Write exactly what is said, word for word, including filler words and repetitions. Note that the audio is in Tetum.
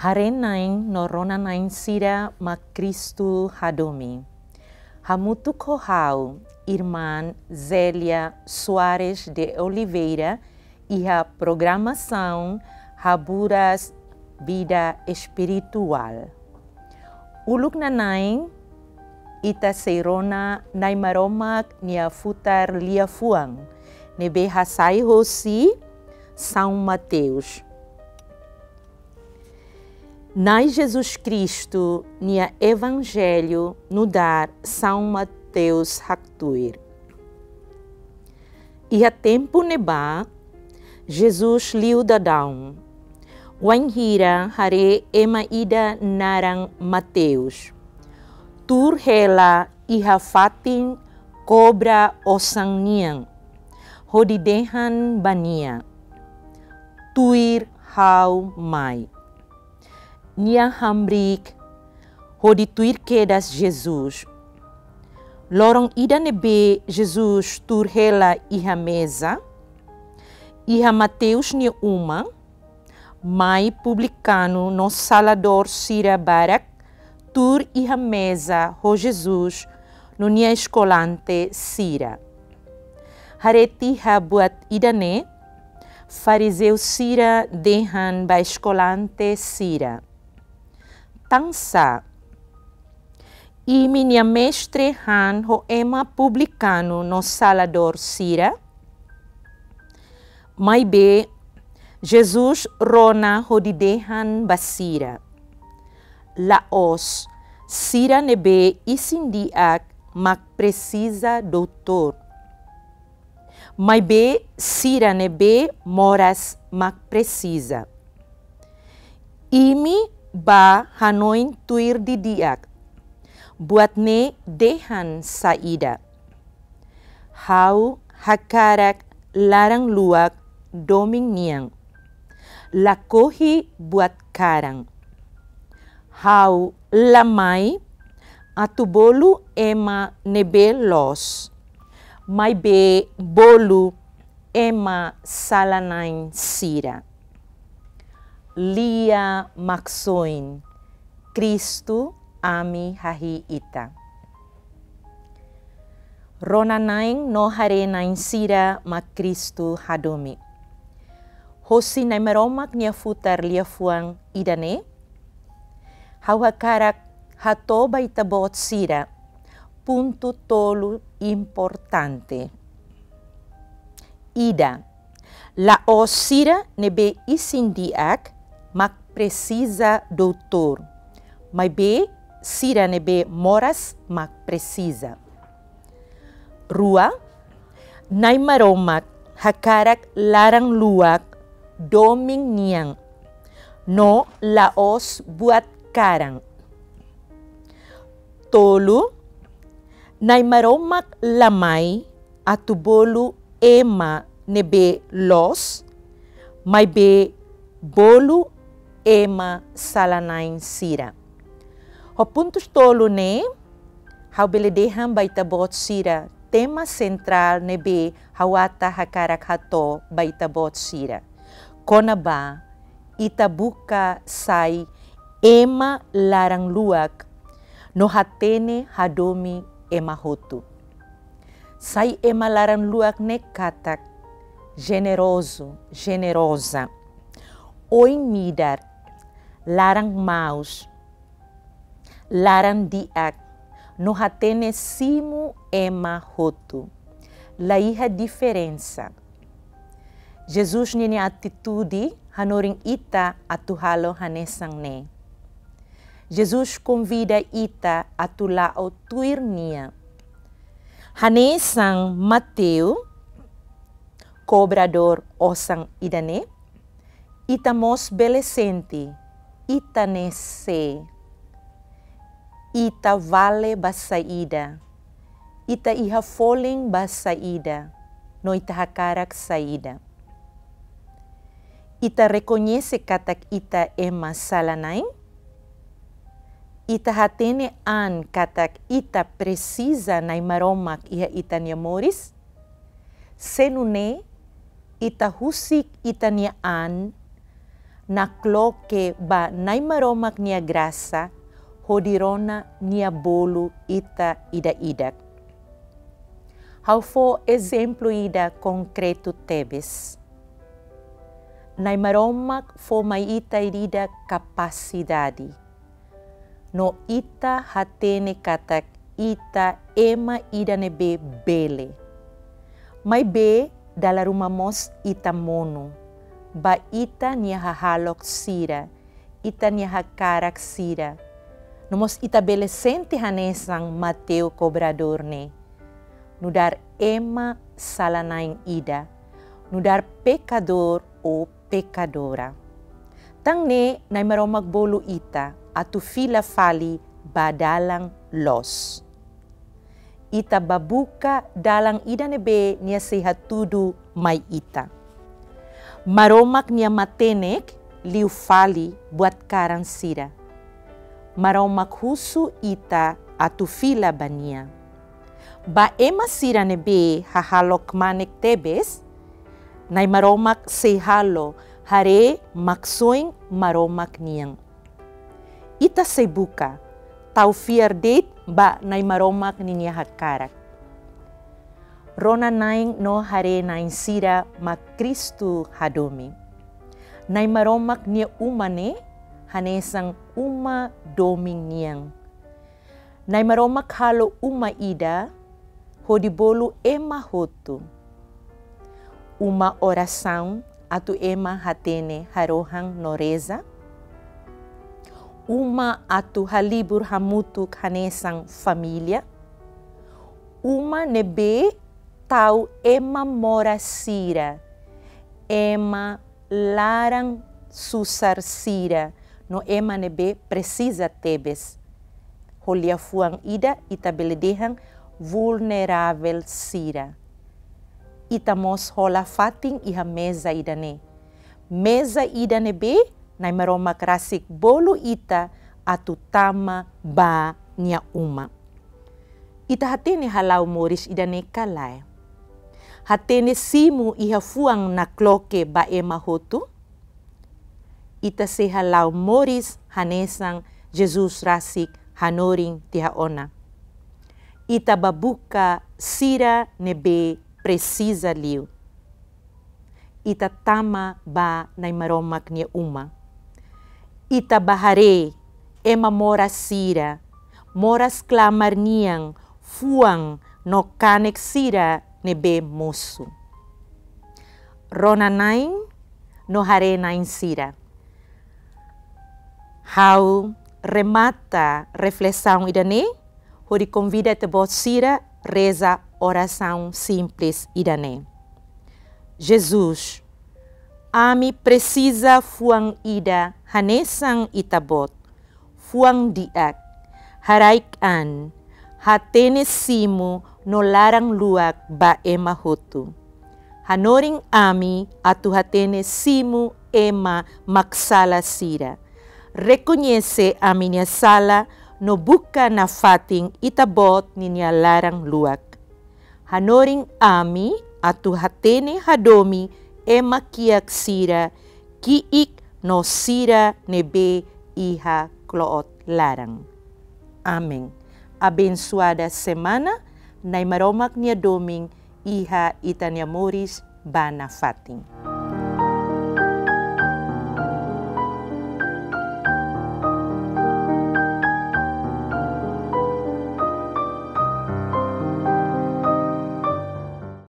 Haree-na'in no rona-na'in sira mak Kristu hadomi. Hamutuk ho ha'u, Irmán Zélia Soares de Oliveira, iha programasaun Haburas Vida Espirituál. Uluk nana'in, ita sei rona Na'i Maromak nia futar liafuan, ne'ebé hasai hosi São Mateus. Na'i Jesus Kristu nia Evanjellu nu'udar São Mateus haktuir. Iha tempu ne'ebá, Jesus liu daudaun, wainhira haree ema ida naran Mateus, tuur hela iha fatin kobra osan nian, hodi dehan ba nia: "Tuir ha'u mai." Nia hamriik hodi tuir kedas Jesus. Loron ida ne'ebé Jesus tuur hela iha meza, iha Mateus nia uma, mai publikanu no saladór sira barak tuur iha meza ho Jesus no nia eskolante sira. Haree tiha buat ida-ne'e, farizeu sira dehan ba eskolante sira: "Tansá imi-nia mestre han ho ema publikanu no saladór sira?" Maibé Jesus rona hodi dehan ba sira: "La'ós sira ne'ebé isin-di'ak mak presiza doutór, maibé sira ne'ebé moras mak presiza. Imi bá hanoin tuir didi'ak, buat ne'e dehan saida: Ha'u hakarak laran-luak domin nian, lakohi buat karan. Ha'u la mai atu bolu ema ne'ebé loos, maibé bolu ema sala-na'in sira." Lia Maksoin, Kristu, ami hahi'i Ita. Rona-na'in no haree-na'in sira mak Kristu hadomi. Hosi Na'i Maromak nia futar liafuan ida-ne'e, ha'u hakarak hato'o ba ita-boot sira pontu tolu importante. Ida, la'ós sira ne'ebé isin-di'ak mak presiza doutór, maibé sira ne'ebé moras mak presiza. Rua, Na'i Maromak hakarak laran-luak domin nian, no la'ós buat karan. Tolu, Na'i Maromak la mai atu bolu ema ne'ebé loos, maibé bolu ema sala-na'in sira. Ho pontus tolu ne'e, ha'u bele dehan ba ita-boot sira tema sentrál ne'ebé ha'u ata hakarak hato'o ba ita-boot sira. Kona-ba ita buka sai ema laran-luak no hatene hadomi ema hotu. Sai ema laran-luak ne'e katak jenerozu, jeneroza, oin-midar, laran-maus, laran-di'ak, no hatene simu ema hotu. La iha diferensa. Jesus ninia atitude hanorin ita atu halo hanesan ne'e. Jesus konvida ita atu la'o tuir nia. Hanesan Mateus, kobradór osan ida-ne'e, ita mós bele sente ita ne'e sé, ita vale ba saida, ita iha folin ba saida, no ita hakarak saida. Ita rekoñese katak ita ema sala-na'in? Ita hatene an katak ita presiza Na'i Maromak iha ita-nia moris? Se nune'e, ita husik ita-nia an nakloke ba Nai Maromak nia grasa hodi rona nia bolu ita ida-idak. Ha'u fó ezemplu ida konkretu tebes. Nai Maromak fó mai ita ida-idak kapasidade. No ita hatene katak ita ema ida ne'ebé bele. Maibé dala ruma mós ita monu ba ita-nia hahalok sira, ita-nia hakarak sira. No mós ita bele sente hanesan Mateo kobradór ne'e. Nu'udar ema sala-na'in ida, nu'udar pekadór ou pekadora. Tan ne'e Nai Maromak bolu ita atu fila fali ba dalan loos. Ita bá buka dalan ida ne'ebé nia sei hatudu mai ita. Maromak nia matenek liu fali buat karan sira. Maromak husu ita atu fila ba nia. Ba ema sira ne'ebé hahalok kmanek tebes, Nai Maromak sei halo haree maksoin Maromak nian. Ita sei buka tau fiar de'it ba Nai Maromak ninia hakarak. Rona-na'in no haree-na'in sira mak Kristu hadomi. Nai Maromak nia uma ne'e hanesan uma domin nian. Nai Maromak halo uma ida hodi bolu ema hotu. Uma orasaun atu ema hatene harohan no reza. Uma atu halibur hamutuk hanesan família. Uma ne'ebé tau ema moras sira, ema laran susar sira, no ema ne'ebé presiza tebes. Ho liafuan ida ita bele dehan vulneravel sira. Ita mós hola fatin iha meza ida-ne'e. Meza ida ne'ebé Nai Maromak rasik bolu ita atu tama ba nia uma. Ita hatene hala'o moris ida-ne'e ka lae? Hatene simu iha fuan nakloke ba ema hotu? Ita sei hala'o moris hanesan Jesus rasik hanorin tiha ona. Ita bá buka sira ne'ebé presiza liu. Ita tama ba Nai Maromak nia uma. Ita bá haree ema moras sira, moras klamar nian, fuan no kanek sira ne'ebé mosu. Rona-na'in no haree-na'in sira. Ha'u remata reflesaun ida-ne'e hodi konvida ita-boot sira reza orasaun simples ida-ne'e. Jesus, ami presiza fuan ida hanesan Ita-Boot, fuan di'ak, haraik an, hatene simu no laran luak ba ema hotu. Hanorin ami atu hatene simu ema mak sala sira. Rekoñese ami-nia sala no buka nafatin Ita-Boot ninia laran luak. Hanorin ami atu hatene hadomi ema kiak sira, ki'ik no sira ne'ebé iha kloot laran. Amen. Abensuada semana, Nai Maromak nia domin iha ita-nia moris ba nafatin.